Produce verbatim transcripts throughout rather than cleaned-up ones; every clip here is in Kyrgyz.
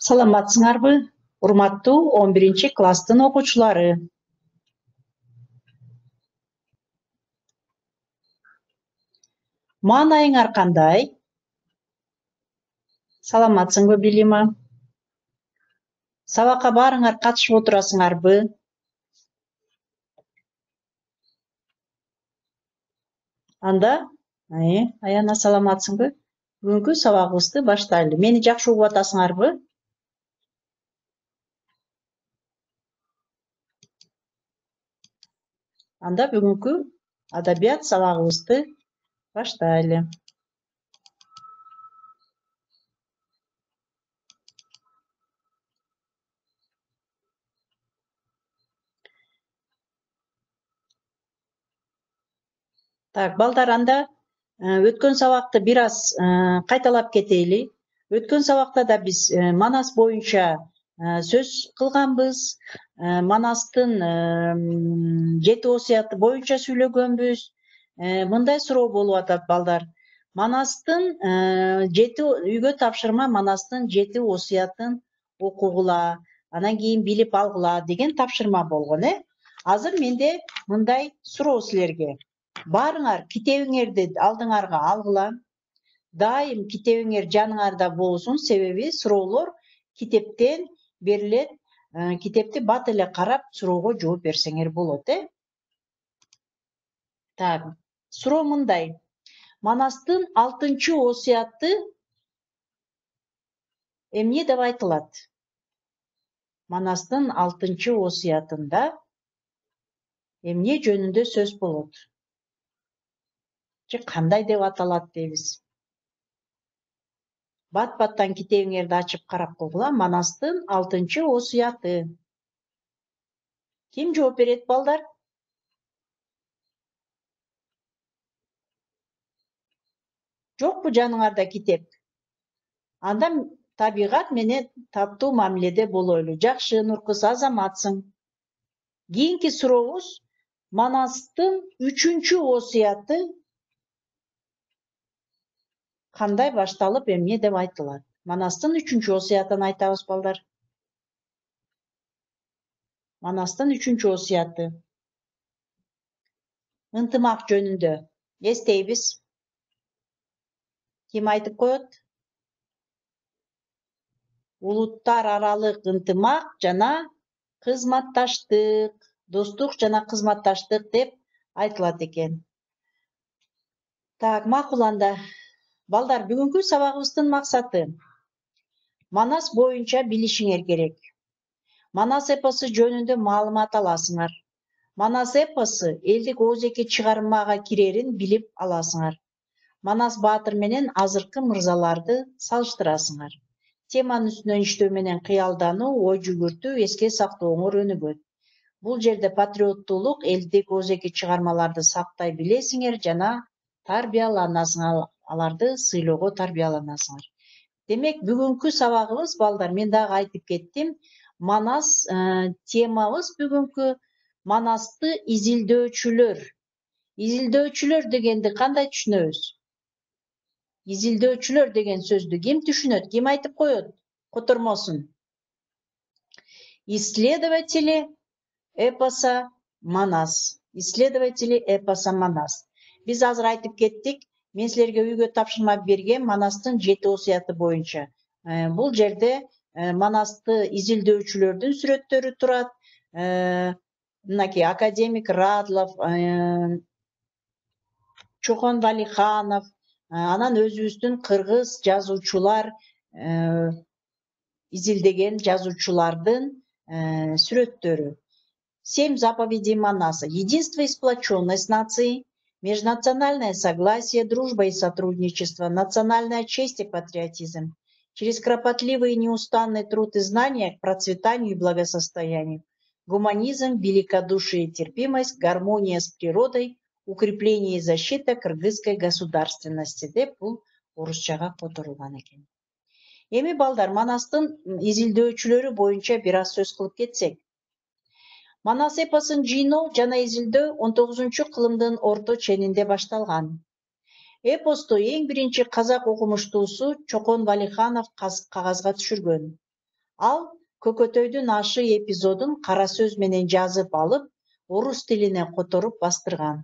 Саламатсыңарбы, урматтуу он биринчи класстын окуучулары. Маанайыңар кандай? Саламатсыңбы, Билима? Сабакка баарыңар катышып отурасыңарбы? Анда, э, Аяна саламатсыңбы? Бүгүнкү сабагыбызды баштайлы. Мени жакшы угуп атасыңарбы? Анда бүгүнкү адабият сабагыбызды баштайлы. Так, балдар, анда өткөн сабакты бир аз кайталап кетели. Өткөн сабакта да биз Манас боюнча сөз кылганбыз. Манастын жети осуяты боюнча сүйлөгөнбүз. Мындай суроо болуп атат, балдар. Манастын жети үйгө тапшырма Манастын жети осуятын окугула, анан кийин билип алгыла деген тапшырма болгон, э? Азыр менде мындай суроо силерге. Баарыңар китебиңерди алдыңарга алгыла. Дайым китебиңер жаныңарда болсун, себеби суроолор китептен берилет. Китепти бат эле карап суроого жооп берсеңер болот, э? Так, суроо мындай. Манастын алтынчы осуяты эмне деп айтылат? Манастын алтынчы осуятында эмне жөнүндө сөз болот? Же кандай деп аталат дейбиз? Бат-баттан китебиңерди ачып карап койгула. Манастын алтынчы осуяты. Ким жооп берет, балдар? Жокпу жаныңарда китеп? Анда табигат менен таттуу мамиледе болойлу. Жакшы, Нуркыз, азаматсың. Кийинки сурообуз Манастын үчүнчү осуяты кандай башталып эмне деп айтылат? Манастын үчүнчү осуятын айтабыз, балдар. Манастын үчүнчү осуяты. Ынтымак жөнүндө. Эстейбиз. Ким айтып коет? Улуттар аралык ынтымак жана кызматташтык, достук жана кызматташтык деп айтылат экен. Так, макул анда. Балдар, бүгүнкү сабагыбыздын максаты Манас боюнча билишиңер керек. Манас эпосу жөнүндө маалымат аласыңар. Манас эпосу элдик оозеки чыгармага кирерин билип аласыңар. Манас баатыр менен азыркы мырзаларды салыштырасыңар. Теманын үстүнөн иштөө менен кыялдануу, ой жүгүртүү, эске сактооңор өнүгөт. Бул жерде патриоттуулук, элдик оозеки чыгармаларды сактай билесиңер жана тарбияланасыңар, аларды сыйлоого тарбияланасыңар. Демек, бүгүнкү сабагыбыз, балдар, мен дагы айтып кеттим, Манас темабыз бүгүнкү Манасты изилдөөчүлөр. Изилдөөчүлөр дегенди кандай түшүнөбүз? Изилдөөчүлөр деген сөздү ким түшүнөт? Ким айтып коет котормосун? Исследователи эпоса Манас. Исследователи эпоса Манас. Биз азыр айтып кеттик. Мен силерге үйгө тапшырма берген Манастын жети осуяты боюнча. Бул жерде Манасты изилдөөчүлөрдүн сүрөттөрү турат. Мынакей академик Радлов, Чокон Валиханов, анан өзүбүздүн кыргыз жазуучулар, изилдеген жазуучулардын сүрөттөрү. Семь заповедей Манаса. Единство и сплоченность нации, межнациональное согласие, дружба и сотрудничество, национальная честь и патриотизм. Через кропотливый и неустанный труд и знания к процветанию и благосостоянию. Гуманизм, великодушие и терпимость, гармония с природой, укрепление и защита кыргызской государственности деп бул орусчага которулган экен. Эми, балдар, Манастын изилдөөчүлөрү боюнча бир аз сөз кылып кетсек. Манас эпосун жыйноо жана изилдөө он тогузунчу кылымдын орто ченинде башталган. Эпосту эң биринчи казак окумуштуусу Чокон Валиханов кагазга түшүргөн. Ал Көкөтөйдүн ашы эпизодун кара сөз менен жазып алып, орус тилине которуп бастырган.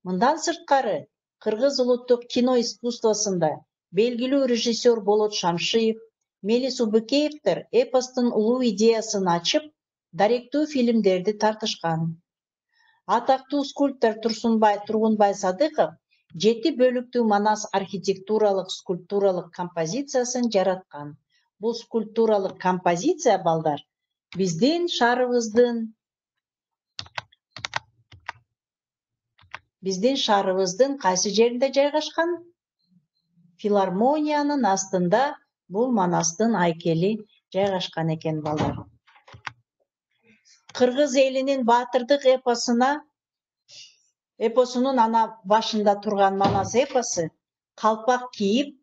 Мындан сырткары, кыргыз улуттук кино искусствосунда белгилүү режиссер Болот Шамшиев, Мелис Убыкеевдер эпостун улуу идеясын ачып, даректүү фильмдерди тартышкан. Атактуу скульптор Турсунбай Тургунбай Садыков жети бөлүктүү Манас архитектуралык скульптуралык композициясын жараткан. Бул скульптуралык композиция, балдар, биздин шаарыбыздын биздин шаарыбыздын кайсы жеринде жайгашкан? Филармониянын астында бул Манастын айкели жайгашкан экен, балдар. Кыргыз элинин баатырдык эпосуна эпосунун ана башында турган Манас эпосу калпак кийип,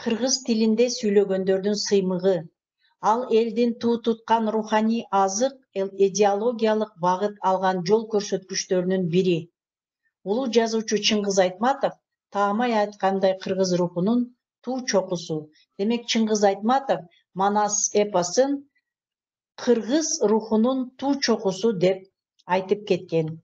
кыргыз тилинде сүйлөгөндөрдүн сыймыгы. Ал элдин туу туткан руханий азык, идеологиялык багыт алган жол көрсөткүчтөрүнүн бири. Улуу жазуучу Чыңгыз Айтматов таамай айткандай кыргыз рухунун туу чокусу. Демек, Чыңгыз Айтматов Манас эпосун кыргыз рухунун туу чокусу деп айтып кеткен.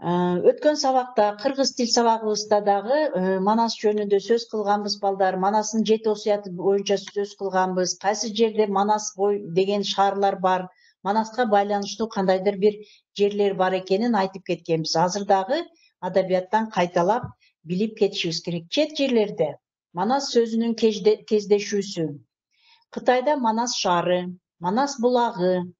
Өткөн сабакта, кыргыз тил сабагыбызда дагы Манас жөнүндө сөз кылганбыз, балдар. Манастын жети осуяты боюнча сөз кылганбыз. Кайсы жерде Манас бой деген шаарлар бар, Манаска байланыштуу кандайдыр бир жерлер бар экенин айтып кеткенбиз. Азыр дагы адабияттан кайталап билип кетишибиз керек. Чет жерлерде Манас сөзүнүн кездешүүсү. Кытайда Манас шаары, Манас булагы,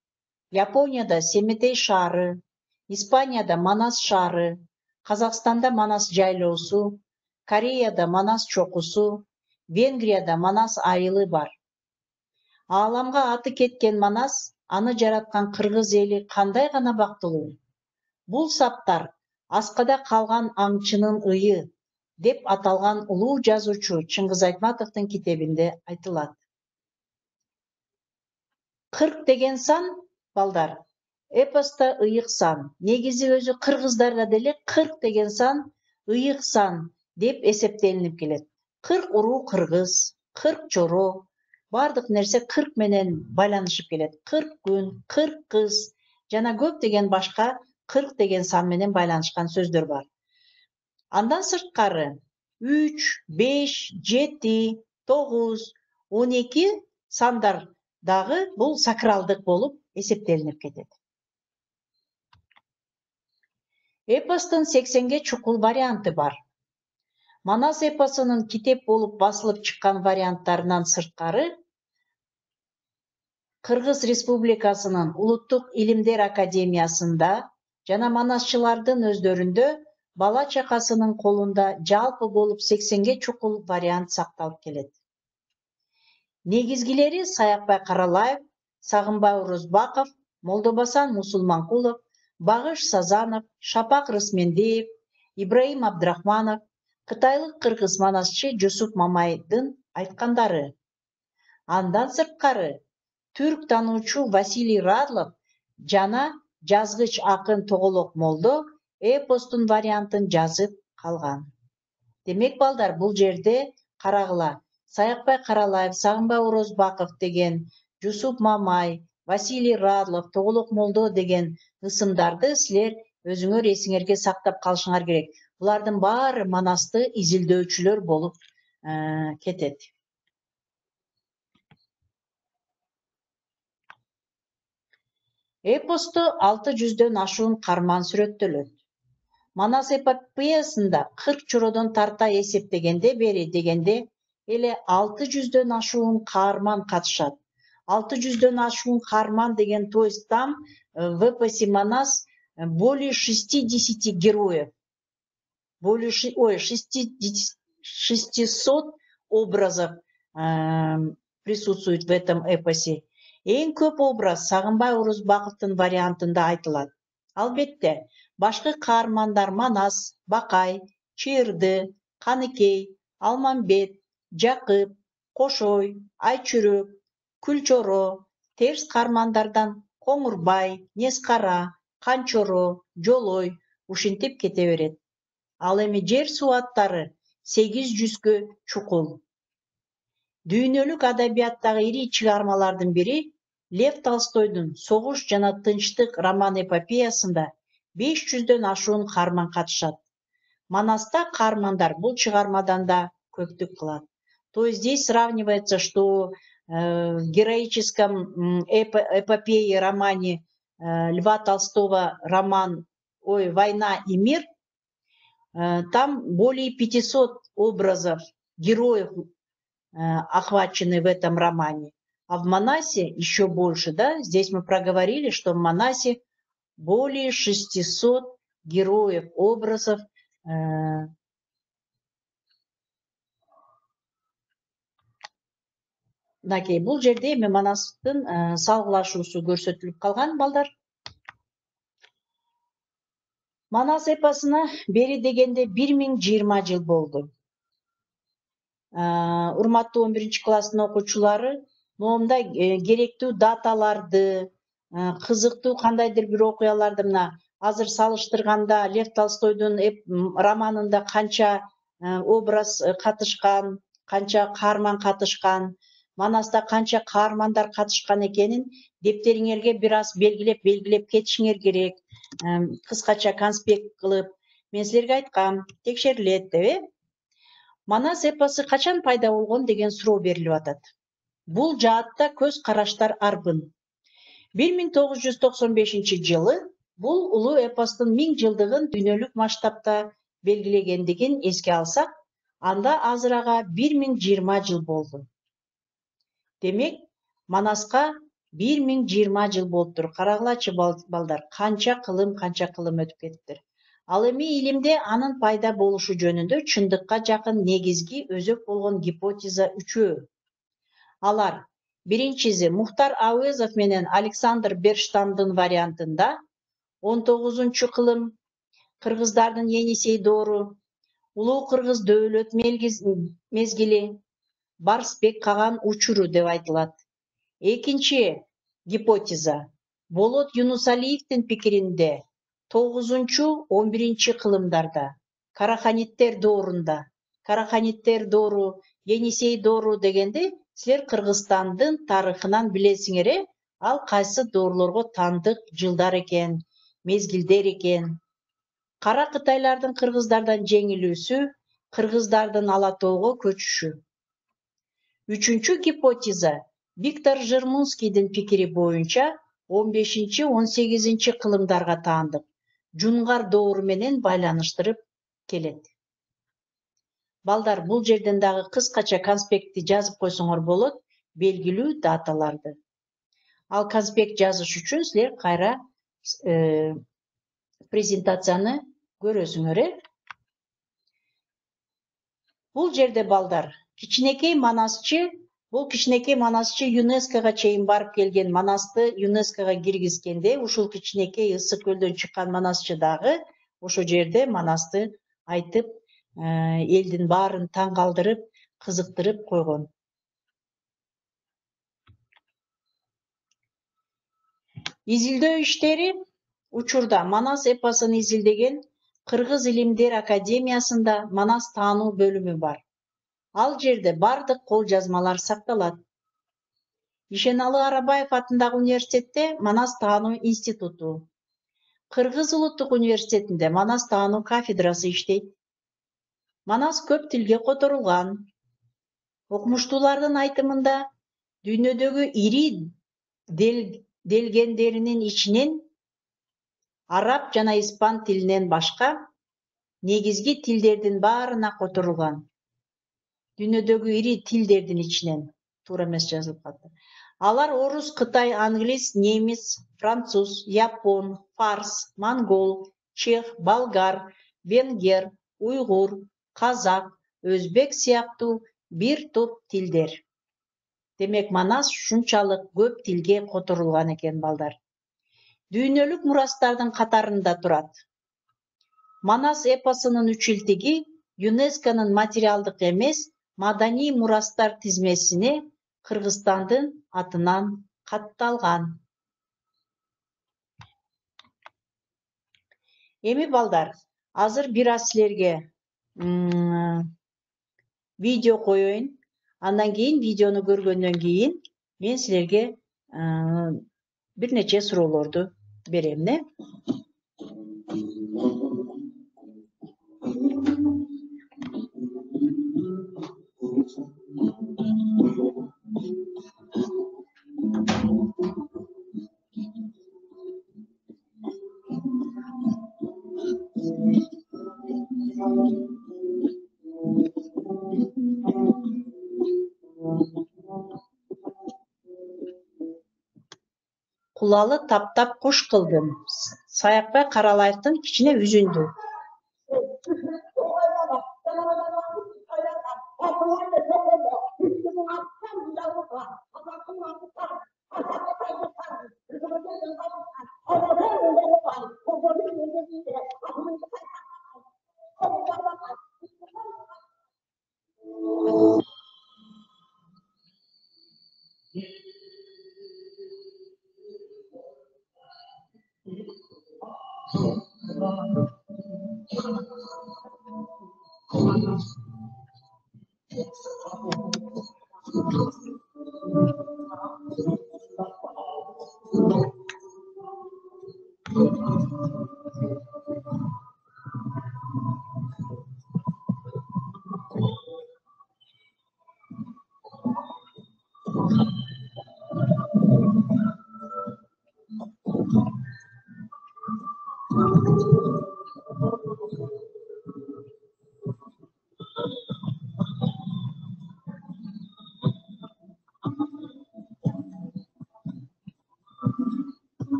Японияда Семетей шаары, Испанияда Манас шаары, Казакстанда Манас жайлоосу, Кореяда Манас чокусу, Венгрияда Манас айылы бар. Ааламга аты кеткен Манас, аны жараткан кыргыз эли кандай гана бактылуу. Бул саптар аскада калган аңчынын ыйы деп аталган улуу жазуучу Чыңгыз Айтматовдун китебинде айтылат. кырк деген сан, балдар, эпоста ыйык сан. Негизи өзү кыргыздарда деле кырк деген сан ыйык сан деп эсептелинип келет. кырк уруу кыргыз, кырк жоро, бардык нерсе кырк менен байланышып келет. кырк күн, кырк кыз жана көптөгөн башка кырк деген сан менен байланышкан сөздөр бар. Андан сырткары үч, беш, жети, тогуз, он эки сандар дагы бул сакралдык болуп эсептелинип кетет. Эпостун сексенге чукул варианты бар. Манас эпосунун китеп болуп басылып чыккан варианттарынан сырткары, Кыргыз Республикасынын Улуттук илимдер академиясында жана манасчылардын өздөрүндө бала чакасынын колунда жалпы болуп сексенге чукул вариант сакталып келет. Негизгилери Саякбай Каралаев, Сагынбай Орозбаков, Молдобасан Мусулманкулов, Багыш Сазанов, Шапак Рысмендеев, Ибраим Абдрахманов, кытайлык кыргыз манасчы Жусуп Мамайдын айткандары. Андан сырткары, түрк таануучу Василий Радлов жана жазгыч акын Тоголок Молдо эпостун вариантын жазып калган. Демек, балдар, бул жерде карагыла. Саякбай Каралаев, Сагынбай Орозбаков деген, Жусуп Мамай, Василий Радлов, Тоголок Молдо деген ысымдарды силер өзүңөр эсиңерге сактап калышыңар керек. Булардын баары Манасты изилдөөчүлөр болуп кетет. Эпосто алты жүздөн ашуун карман сүрөттөлөт. Манас эпопеясында кырк чородон тарта эсептегенде бери дегенде эле алты жүздөн ашуун каарман катышат. алты жүздөн ашуун каарман деген, то есть там в эпосе Манас более шестидесяти героев, более ой, шестисот образов присутствует в этом эпосе. Эң көп образ Сагынбай Орозбаковдун вариантында айтылат. Албетте, башкы каармандар Манас, Бакай, Чырды, Каныкей, Алмамбет, Жакып, Кошой, Айчүрөк, Күлчоро, терс каармандардан Коңурбай, Нескара, Канчоро, Жолой ушинтип кете берет. Ал эми жер суу аттары сегиз жүзгө чукул. Дүйнөлүк адабияттагы ири чыгармалардын бири Лев Толстойдун «Согуш жана тынчтык» роман эпопеясында беш жүздөн ашуун каарман катышат. Манаста каармандар бул чыгармадан да көптүк кылат. То есть здесь сравнивается, что э, в героическом эпо эпопее романе э, Льва Толстого роман ой, «Война и мир», э, там более пятисот образов героев э, охвачены в этом романе. А в Манасе еще больше, да? Здесь мы проговорили, что в Манасе более шестисот героев, образов. Э, Мынакей, бул жерде эми Манастын э, салгылашуусу көрсөтүлүп калган, балдар. Манас эпосуна бери дегенде бир миң жыйырма жыл болду. Урматтуу он биринчи класстын окуучулары, момунда керектүү даталарды, кызыктуу кандайдыр бир окуяларды мына азыр салыштырганда Лев Толстойдун романында канча образ катышкан, канча каарман катышкан, Манаста канча каармандар катышкан экенин дептериңерге бир аз белгилеп белгилеп кетишиңер керек. Кыскача конспект кылып, мен силерге айткам, текшерилет деп, э? Манас эпосу качан пайда болгон деген суроо берилип атат. Бул жаатта көз караштар арбын. бир миң тогуз жүз токсон бешинчи жылы бул улуу эпостун миң жылдыгын дүйнөлүк масштабта белгилегендигин эске алсак, анда азыр ага бир миң жыйырма жыл болду. Демек, Манаска бир миң жыйырма жыл болуптур. Карагылачы балдар, канча кылым, канча кылым өтүп кетиптир. Ал эми илимде анын пайда болушу жөнүндө чындыкка жакын негизги өзөк болгон гипотеза үчөө. Алар: биринчиси, Мухтар Ауезов менен Александр Берштамдын вариантында он тогузунчу кылым, кыргыздардын Енисей доору, улуу кыргыз дөөлөт мезгили, Барсбек Каган учуру деп айтылат. Экинчи гипотеза Болот Юнусалиевдин пикиринде тогузунчу он биринчи кылымдарда Караханиттер доорунда, Караханиттер доору, Енисей доору дегенде силер Кыргызстандын тарыхынан билесиңер, э? Ал кайсы доорлорго таандык жылдар экен, мезгилдер экен. Кара Кытайлардын кыргыздардан жеңилүүсү, кыргыздардын Ала тоого көчүшү. Үчүнчү гипотеза Виктор Жермунскийдин пикири боюнча он бешинчи он сегизинчи кылымдарга таандык, Жунгар доору менен байланыштырып келет. Балдар, бул жерден дагы кыскача конспектти жазып койсоңор болот, белгилүү даталарды. Ал конспект жазыш үчүн силер кайра э, презентацияны көрөсүңөр, э? Бул жерде балдар, кичинекей Манасчы, бул кичинекей Манасчы ЮНЕСКОга чейин барып келген. Манасты ЮНЕСКОга киргизгенде ушул кичинекей ысык көлдөн чыккан Манасчы дагы ошо жерде Манасты айтып, элдин баарын таң калтырып, кызыктырып койгон. Изилдөө иштери учурда Манас эпосун изилдеген Кыргыз илимдер академиясында Манас таануу бөлүмү бар. Ал жерде бардык кол жазмалар сакталат. Ишеналы Арабаев атындагы университетте Манас таануу институту, Кыргыз улуттук университетинде Манас таануу кафедрасы иштейт. Манас көп тилге которулган. Окумуштуулардын айтымында, дүйнөдөгү ири дел, делгендеринин ичинен араб жана испан тилинен башка негизги тилдердин баарына которулган. Дүйнөдөгү ири тилдердин ичинен, туура эмес жазылып калды. Алар орус, кытай, англис, немис, француз, япон, фарс, монгол, чех, болгар, венгер, уйгур, казак, өзбек сыяктуу бир топ тилдер. Демек, Манас ушунчалык көп тилге которулган экен, балдар. Дүйнөлүк мурастардын катарында турат. Манас эпосунун үчилтиги ЮНЕСКОнун материалдык эмес маданий мурастар тизмесине Кыргызстандын атынан катталган. Эми балдар, азыр бир аз силерге видео коеюн. Андан кийин видеону көргөндөн кийин мен силерге бир нече суроолорду берем, не? Кулалы таптап куш кылдым, Саякбай Каралаевдин кичине үзүндү.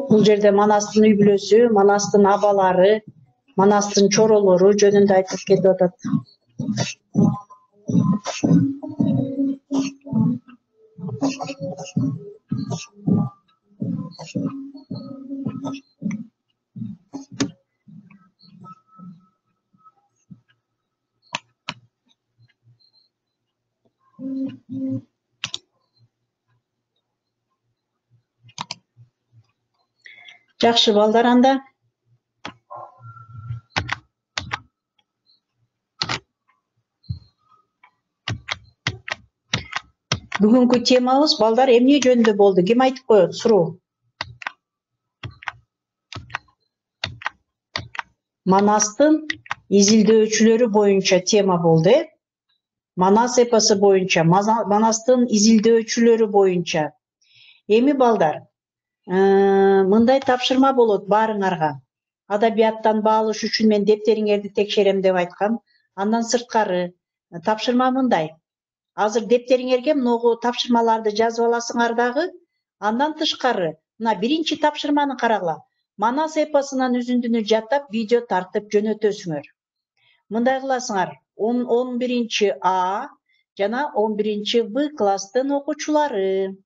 Бул жерде Манастын үй бүлөсү, Манастын абалары, Манастын чоролору жөнүндө айтып кетип атат. Жакшы балдар, анда бүгүнкү темабыз балдар эмне жөнүндө болду? Ким айтып коет? Суроо. Манастын изилдөөчүлөрү боюнча тема болду, э? Манас эпосу боюнча, Манастын изилдөөчүлөрү боюнча. Эми балдар, мындай тапшырма болот баарыңарга. Адабияттан баалыш үчүн мен дептериңерди текшерем деп айткам. Андан сырткары тапшырма мындай. Азыр дептериңерге могу тапшырмаларды жазып аласыңар дагы. Андан тышкары, мына биринчи тапшырманы карагыла. Манас эпосунан үзүндүнү жаттап, видео тартып жөнөтөсүңөр. Мындай кыласыңар. он биринчи А жана он биринчи В класстын окуучулары.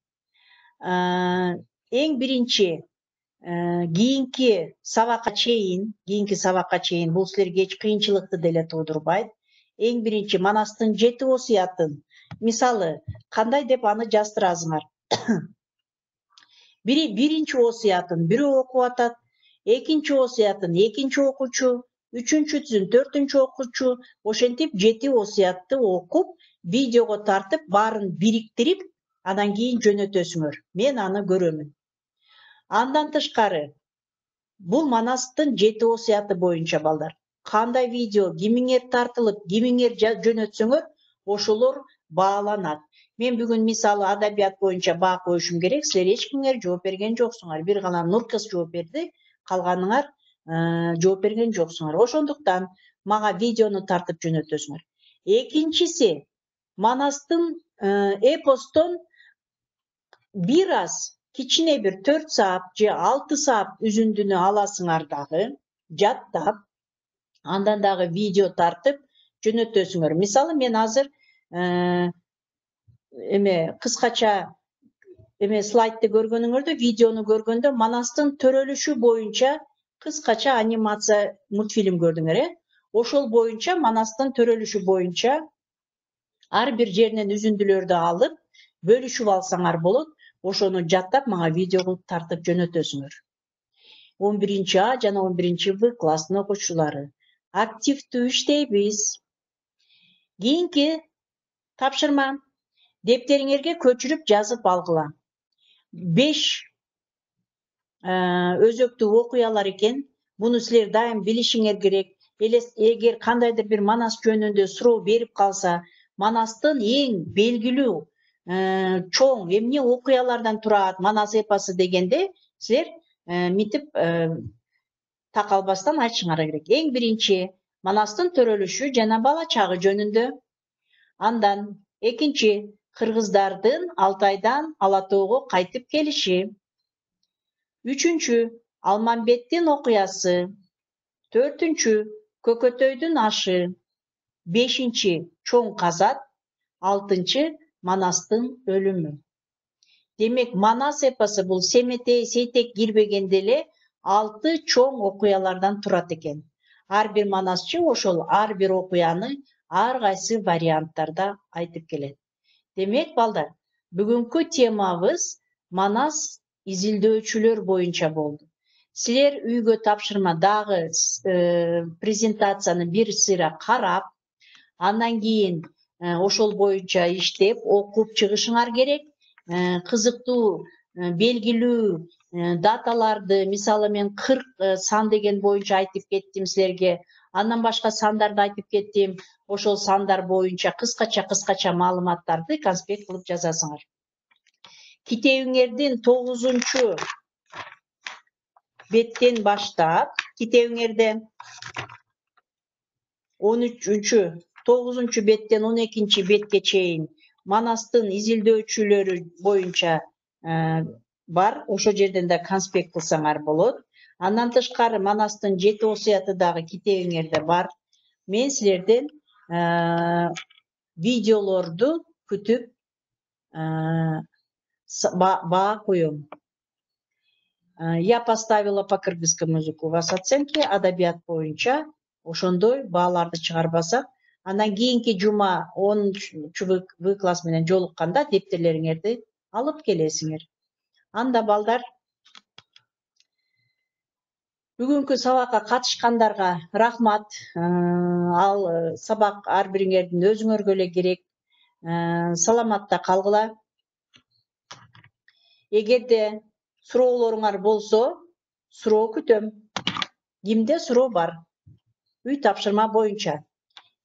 Эң биринчи кийинки сабакка чейин, кийинки сабакка чейин бул силерге эч кыйынчылыкты деле туудурбайт. Эң биринчи Манастын жети осуятын, мисалы, кандай деп аны жаздырасыңар. Бири биринчи осуятын бирөө окуп атат, экинчи осуятын экинчи окуучу, үчүнчүсүн төртүнчү окуучу, ошентип жети осуятты окуп, видеого тартып, баарын бириктирип, андан кийин жөнөтөсүңөр. Мен аны көрөмүн. Андан тышкары, бул Манастын жети осуяты боюнча балдар. Кандай видео кимиңер тартылып, кимиңер жөнөтсөңөр, ошолор бааланат. Мен бүгүн мисалы адабият боюнча баа коюшум керек, силер эч кимиңер жооп берген жоксуңар. Бир гана Нуркыз жооп берди, калганыңар жооп берген жоксуңар. Ошондуктан мага видеону тартып жөнөтөсүңөр. Экинчиси, Манастын эпостон бир аз кичине бир төрт саат же алты саат үзүндүнү аласыңар дагы, жаттап, андан дагы видео тартып жөнөтөсүңөр. Мисалы, мен азыр эме кыскача эме слайдты көргөнүңөрдө, видеону көргөндө Манастын төрөлүшү боюнча кыскача анимация мультфильм көрдүңөр, э? Ошол боюнча Манастын төрөлүшү боюнча ар бир жеринен үзүндүлөрдү алып, бөлүшүп алсаңар болот. Ошону жаттап, мага видео кылып тартып жөнөтөсүңөр. он биринчи А жана он биринчи В класстын окуучулары. Активдүү иштейбиз. Кийинки тапшырма. Дептериңерге көчүрүп жазып алгыла. беш өзөктүү окуялар экен. Буну силер дайым билишиңер керек. Эгер кандайдыр бир Манас жөнүндө суроо берип калса, Манастын эң белгилүү чоң эмне окуялардан турат Манас эпосу дегенде, силер митип такалбастан айтышыңар керек. Эң биринчи Манастын төрөлүшү жана бала чагы жөнүндө. Андан экинчи кыргыздардын Алтайдан Ала Тоого кайтып келиши. Үчүнчү Алмамбеттин окуясы. Төртүнчү Көкөтөйдүн ашы. Бешинчи Чоң казат. Алтынчы Манастын өлүмү. Демек, Манас эпосу бул Семетей, Сейтек кирбегенде эле алты чоң окуялардан турат экен. Ар бир манасчы ошол ар бир окуяны ар кайсы варианттарда айтып келет. Демек, балдар, бүгүнкү темабыз Манас изилдөөчүлөр боюнча болду. Силер үйгө тапшырма дагы презентацияны бир сыйра карап, андан кийин ошол боюнча иштеп, окуп чыгышыңар керек. Кызыктуу, белгилүү даталарды, мисалы мен кырк сан деген боюнча айтып кеттим силерге. Андан башка сандарды айтып кеттим. Ошол сандар боюнча кыскача-кыскача маалыматтарды конспект кылып жазасыңар. Китебиңердин тогузунчу беттен баштап, китебиңерде он үчүнчү тогузунчу беттен он экинчи бетке чейин Манастын изилдөөчүлөрү боюнча бар. Ошол жерден да конспект кылсаңар болот. Андан тышкары Манастын жети осуяты дагы китебиңерде бар. Мен силерден видеолорду күтүп баа коем. Я поставила по кыргызскому языку у вас оценки, адабият боюнча ошондой бааларды чыгарбасак, андан кийинки жума онунчу В класс менен жолукканда дептерлериңерди алып келесиңер. Анда балдар, бүгүнкү сабакка катышкандарга рахмат. Ал сабак ар бириңердин өзүңөргө эле керек. Саламатта калгыла. Эгерде суроолоруңар болсо, суроо күтөм. Кимде суроо бар? Үй тапшырма боюнча.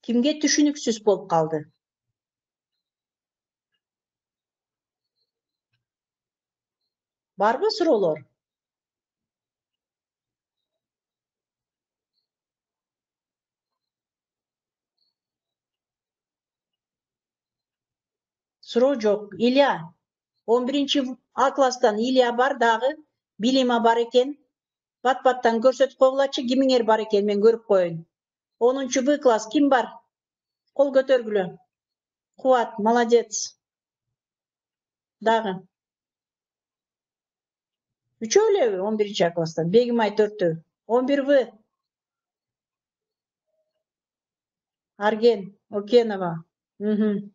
Кимге түшүнүксүз болуп калды? Барбы суроолор? Суроо жок. Илья. он биринчи А класстан Илья бар дагы. Билими бар экен. Бат баттан көрсөтүп койгулачы, кимиңер бар экен, мен көрүп коеюн. онунчу Б класс ким бар? Кол көтөргүлө. Кубат, молодец. Дагы. Үчөө элеби он биринчи А класстан? Бегимай төртөө. он бир В. Арген Окенова. Мхм.